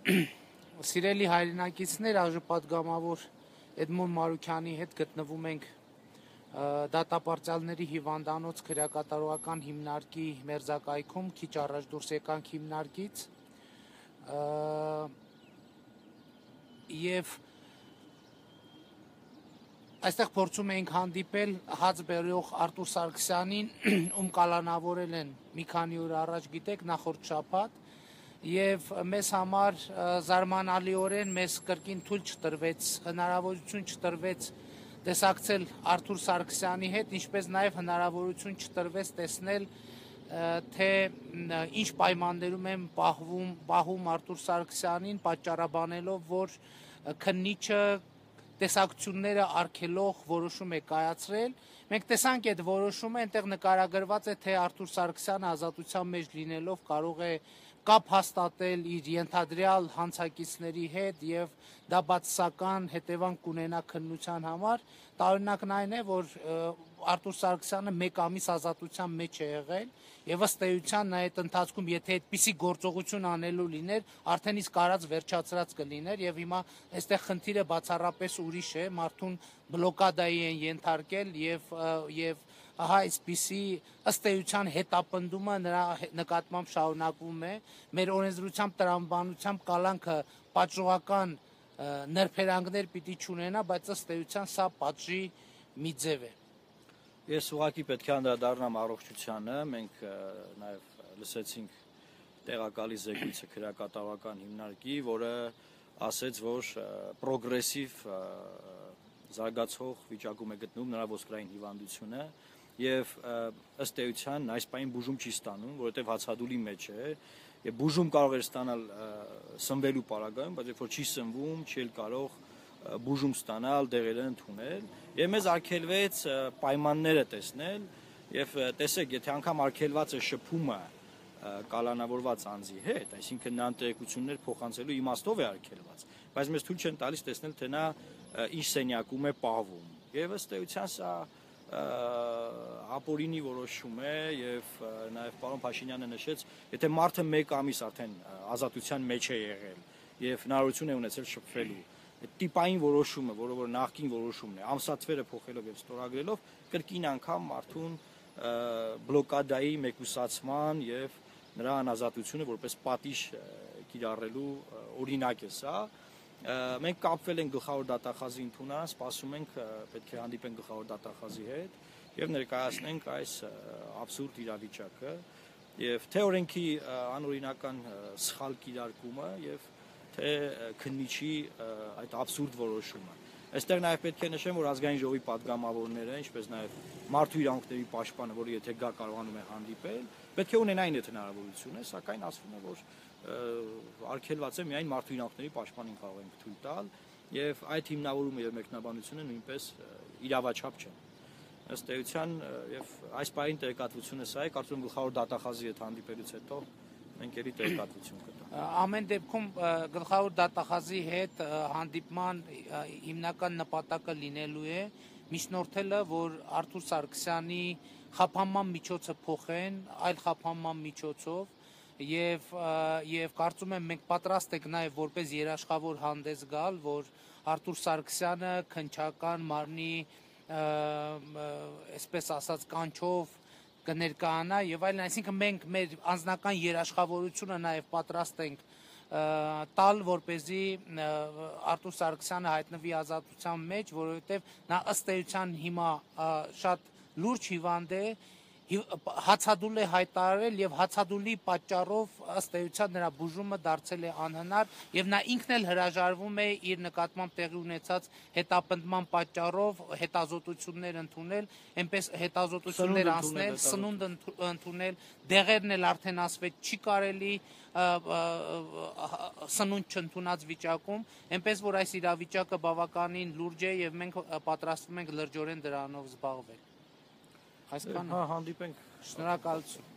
Սիրելի հայրենակիցներ, այժմապատգամավոր Էդմոն Մարուքյանի հետ գտնվում ենք դատապարտյալների հիվանդանոց քրեակատարողական հիմնարկի մերձակայքում, քիչ առաջ դուրս եկանք հիմնարկից եւ այստեղ փորձում ենք հանդիպել հաց բերող Արտուր Սարգսյանին, ում կալանավորել են մի քանի օր առաջ, գիտեք, նախորդ շաբաթ, եւ մեզ համար զարմանալիորեն մեզ կրկին թույլ չտրվեց, հնարավորություն չտրվեց տեսակցել Արտուր Սարգսյանի հետ, ինչպես նաեւ հնարավորություն չտրվեց տեսնել, թե ինչ պայմաններում են պահում Արտուր Սարգսյանին, պատճառաբանելով, որ քննիչը տեսակցությունները արգելող որոշում է կայացրել։ Մենք տեսանք այդ որոշումը, այնտեղ նկարագրված է, թե Արտուր Սարգսյանը ազատության մեջ լինելով կարող է կապ հաստատել իր ենթադրյալ հանցակիցների հետ եւ դա բացասական հետևանք կունենա քննության համար։ Տարօրինակն այն է, որ Արտուր Սարգսյանը 1 ամիս ազատության մեջ է եղել եւ ըստ էության նա այդ ընթացքում եթե այդպիսի գործողություն անելու լիներ, արդեն իսկ արած վերջացրած կլիներ եւ հիմա այստեղ խնդիրը բացառապես ուրիշ է, մարդուն բլոկադայի են ենթարկել եւ ահա այսպիսի ըստ էության հետապնդումը նրա նկատմամբ շարունակվում է։ Մեր օրենսդրությամբ տրամաբանությամբ կալանքը պատժողական նրբերանգներ պիտի չունենա, բայց ըստ էության սա պատժի մի ձև է։ Ես ուղղակի պետք է անդրադառնամ առողջությանը, մենք նաև լսեցինք տեղակալի զեկույցը քրեակատարողական հիմնարկի, որը ասեց, որ պրոգրեսիվ զարգացող վիճակում է գտնվում նրա ոսկրային հիվանդությունը եւ ըստ էության այս պահին բուժում չի ստանում, որովհետեւ հացադուլի մեջ է եւ բուժում կարող է ստանալ սնվելու պարագայում, բայց երբ որ չի սնվում, չի էլ կարող բուժում ստանալ, դեղերը ընդունել եւ մեզ արգելվեց պայմանները տեսնել եւ տեսեք, եթե անգամ արգելված է շփումը կալանավորված անձի հետ, այսինքն նա տեղեկություններ փոխանցելու իմաստով է արգելված, բայց մեզ թույլ չեն տալիս տեսնել, թե նա ինչ սենյակում է պահվում եւ ըստ էության սա ապօրինի որոշում է եւ նաեւ պարոն Փաշինյանը նշեց, եթե մարդը 1 ամիս արդեն ազատության մեջ է եղել եւ հնարավորություն է ունեցել շփվելու, տիպային որոշումը, որը որ նախկին որոշումն է, ամսաթվերը փոխելով եւ ստորագրելով, կրկին անգամ մարդուն բլոկադայի մեկուսացման եւ նրա անազատությունը որպես պատիժ կիրառելու օրինակ է սա։ Մենք կապվել ենք գլխավոր դատախազի ընդունարան, սպասում ենք պետք է հանդիպենք գլխավոր դատախազի հետ եւ ներկայացնենք այս աբսուրդ իրավիճակը եւ թե օրենքի անօրինական սխալ կիրարկումը եւ թե քննիչի այդ աբսուրդ որոշումը։ Այստեղ նաեւ պետք է նշեմ, որ ազգային ժողովի падգամավորները, ինչպես նաեւ մարդու իրավունքների պաշտպանը, որը եթե գա կարողանում է հանդիպել, պետք է ունենային այդ հնարավորությունը, սակայն ասվում է, որ արգելված է միայն մարդու իրավունքների պաշտպանին կարող ենք թույլ տալ եւ այդ հիմնավորումը եւ մեկնաբանությունը նույնպես իրավաչափ չեն։ Ըստ էության եւ այս պահին տեղեկատվությունը սա է, կարծում եմ գլխավոր դատախազի հետ հանդիպելուց հետո մենք ելի տեղեկատվություն կտանք։ Ամեն դեպքում գլխավոր դատախազի հետ հանդիպման հիմնական նպատակը լինելու է միջնորդելը, որ Արտուր Սարգսյանի խափանման միջոցը փոխեն այլ խափանման միջոցով եւ կարծում եմ մենք պատրաստ ենք նաեւ որպես երաշխավոր հանդես գալ, որ Արտուր Սարգսյանը քննչական մարմնի այսպես ասած կանչով կներկայանա եւ այլն, այսինքն մենք մեր անձնական երաշխավորությունը նաեւ պատրաստ ենք տալ, որպեսզի Արտուր Սարգսյանը հայտնվի ազատության մեջ, որովհետեւ նա ըստ էության հիմա շատ լուրջ հիվանդ է, հացադուլ է հայտարարել եւ հացադուլի պատճառով ըստ էության նրա բուժումը դարձել է անհնար եւ նա ինքն էլ հրաժարվում է իր նկատմամբ տեղի ունեցած հետապնդման պատճառով հետազոտություններ ընդունել, այնպես հետազոտություններ անցնել, սնունդ ընդունել, դեղերն էլ արդեն ասվեց չի կարելի սնունդ չընդունած վիճակում, այնպես որ այս իրավիճակը բավականին լուրջ է եւ մենք պատրաստվում ենք լրջորեն դրանով զբաղվել։ Այսքանը հանդիպենք։ Շնորհակալություն։